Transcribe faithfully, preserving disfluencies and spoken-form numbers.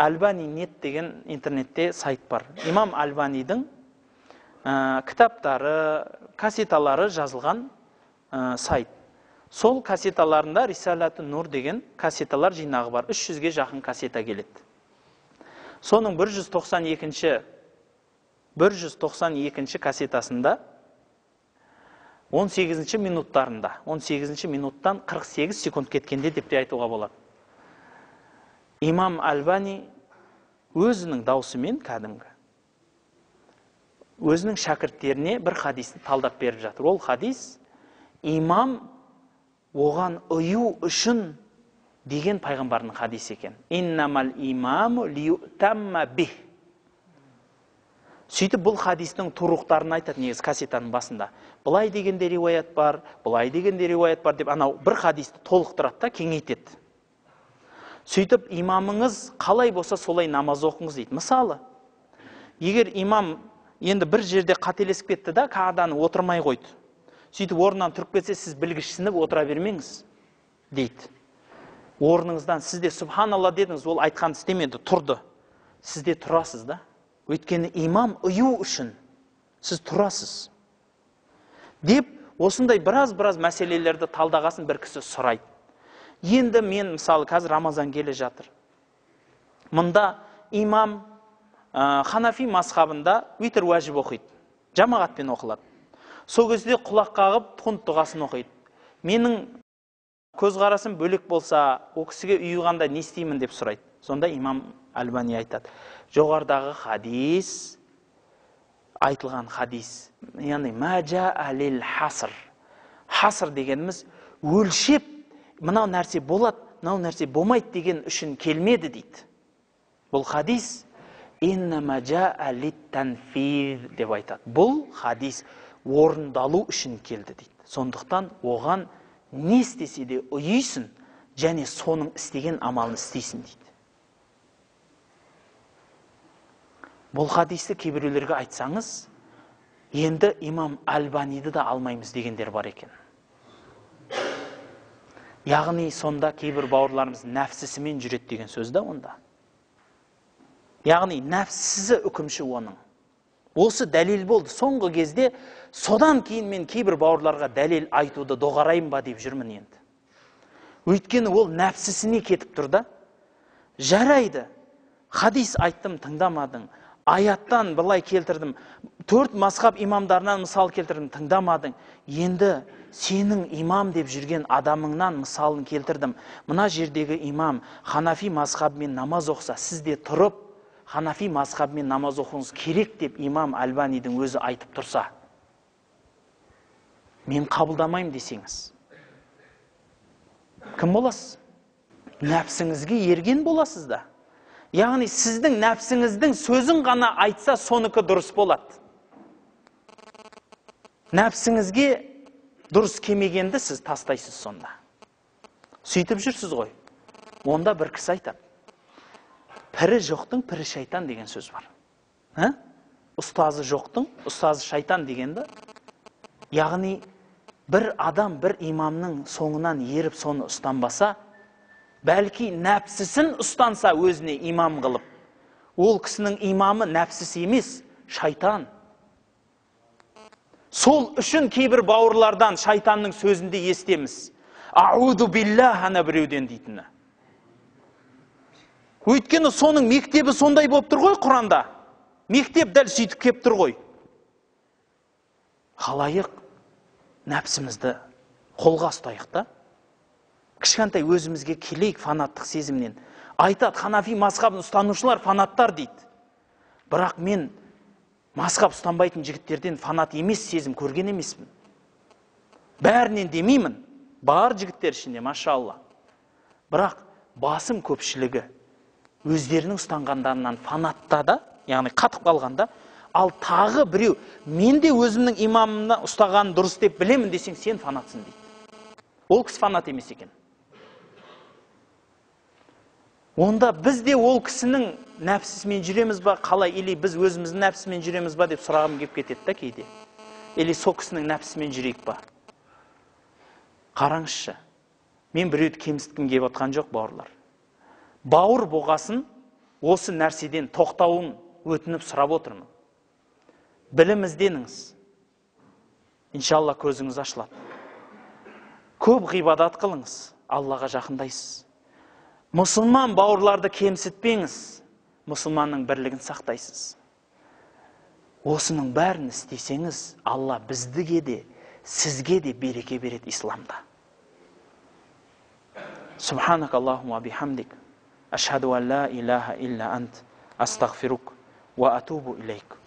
Альбани нет деген интернетте сайт бар. Имам Альбанидың ә, кітаптары, кассеталары жазылған ә, сайт. Сол кассеталарында Рисалаты Нур деген кассеталар жинағы бар. үш жүзге жақын кассета келеді. Соның бір жүз тоқсан екінші бір жүз тоқсан екінші кассетасында он сегізінші минуттарында, он сегізінші минуттан қырық сегіз секунд кеткенде деп те айтуға болады. Имам Альбани өзінің даусымен кәдімгі өзінің шәкірттеріне бір хадисті талдап беріп жатыр. Ол хадис имам оған ұю үшін деген пайғамбардың хадисі екен. Иннамал имаму лиютамма бих. Сөйтіп бұл хадистің тұруқтарын айтады негізі кассетаның басында. Бұлай дегенде риуаят бар, бұлай дегенде риуаят бар деп анау бір хадисті толықтырады да кеңейтеді. Сөйтіп имамыңыз қалай болса солай намаз оқыңыз дейді. Мысалы, егер имам енді бір жерде қателесіп кетті да, қағданы отырмай қойды. Сөйтіп орнынан тұрып кетсе, сіз білгішсініп отыра бермеңіз дейді. Орныңыздан сізде субханалла дедіңіз, ол айтқан істемеді, тұрды. Сізде тұрасыз да. Өйткені имам ұю үшін сіз тұрасыз. Деп, осындай біраз-біраз мәселелерді талдағасын бір кісі сұрайды. Енді мен, мысалы, қазір Рамазан келе жатыр. Мұнда имам ә, Ханафи мазхабында витр уәжіп оқиды. Жамағатпен оқылады. Сол кезде құлақ қағып, құнт дұғасын оқиды. Менің көзқарасым бөлек болса, о кісіге ұйығанда не істеймін деп сұрайды. Сонда имам Альбани айтады. Жоғардағы хадис, айтылған хадис, яғни мәжа әлел хаср. Хаср дегеніміз өлшеп, мынау нәрсе болады, мынау нәрсе болмайды деген үшін келмеді дейді. Бұл хадис инна мәжа әлет тәнфир деп айтады. Бұл хадис орындалу үшін келді дейді. Сондықтан оған не істесе де ұйыйсың, және соның істеген амалын істейсің дейді. Бұл хадисті кейбіреулерге айтсаңыз, енді имам Альбаниді да алмаймыз дегендер бар екен. Яғни сонда кейбір бауырларымыз нәпсісімен жүреді деген сөз да онда. Яғни нәпсісі үкімші оның. Осы дәлел болды. Соңғы кезде содан кейін мен кейбір бауырларға дәлел айтуды доғарайын ба деп жүрмін енді. Өйткені ол нәпсісіне кетіп тұр да. Жарайды. Хадис айттым, тыңдамадың. Аяттан былай келтірдім. Төрт мазхаб имамдарынан мысал келтірдім, тыңдамадың. Енді сенің имам деп жүрген адамыңнан мысалын келтірдім. Мына жердегі имам Ханафи мазхабымен намаз оқса, сізде тұрып, Ханафи мазхабымен намаз оқуыңыз керек деп имам Альбанидің өзі айтып тұрса, мен қабылдамайым десеңіз, кім боласыз? Нәпсіңізге ерген боласыз да. Яғни сіздің нәпсіңіздің сөзін ғана айтса, соныкі дұрыс болады. Нәпсіңізге дұрыс кемегенді сіз тастайсыз сонда. Сөйтіп жүрсіз ғой. Онда бір кісі айтады. Пірі жоқтың пірі шайтан деген сөз бар. Ә? Ұстазы жоқтың ұстазы шайтан дегенді. Яғни бір адам бір имамның соңынан еріп соны ұстанбаса, бәлки нәпсісін ұстанса өзіне имам қылып, ол кісінің имамы нәпсісі емес, шайтан. Сол үшін кейбір бауырлардан шайтанның сөзінде естеміз. Ауду биллах ана біреуден дейтіні. Өйткені соның мектебі сондай болып тұр ғой Құранда. Мектеп дәл сөйтіп кеп тұр ғой. Халайық нәпсімізді қолға ұстайық та. Кішкентай өзімізге келейік фанаттық сезімнен. Айтады, Ханафи мазхабын ұстанушылар фанаттар дейді. Бірақ мен мазхаб ұстанбайтын жігіттерден фанат емес сезім көрген емеспін. Бәрінен демеймін, бар жігіттер ішінде, машалла. Бірақ басым көпшілігі өздерінің ұстанғандарынан фанатта да, яғни қатып қалғанда, ал тағы біреу, мен де өзімнің имамымна ұстаған дұрыс деп білемін десең, сен фанатсың дейді. Ол кісі фанат емес екен. Онда біз де ол кісінің нәпсісімен жүреміз ба, қалай, или біз өзіміздің нәпсісімен жүреміз ба деп сұрағым кеп кетеді да кейде. Или сол кісінің нәпсісімен жүрейік ба? Қараңызшы, мен біреуді кемсіткім кеп отқан жоқ, бауырлар. Бауыр болғасын, осы нәрседен тоқтауын өтініп сұрап отырмын. Білім ізденіңіз. Иншалла көзіңіз ашылады. Көп ғибадат қылыңыз, Аллаға жақындайсыз. Мұсылман бауырларды кемсітпеңіз, мұсылманның бірлігін сақтайсыз. Осының бәрін істесеңіз, Алла біздіге де, сізге де береке береді исламда. Субханак Аллахума бихамдик, ашхаду ан ла илаха илля ант, астағфирук, ва атубу илейк.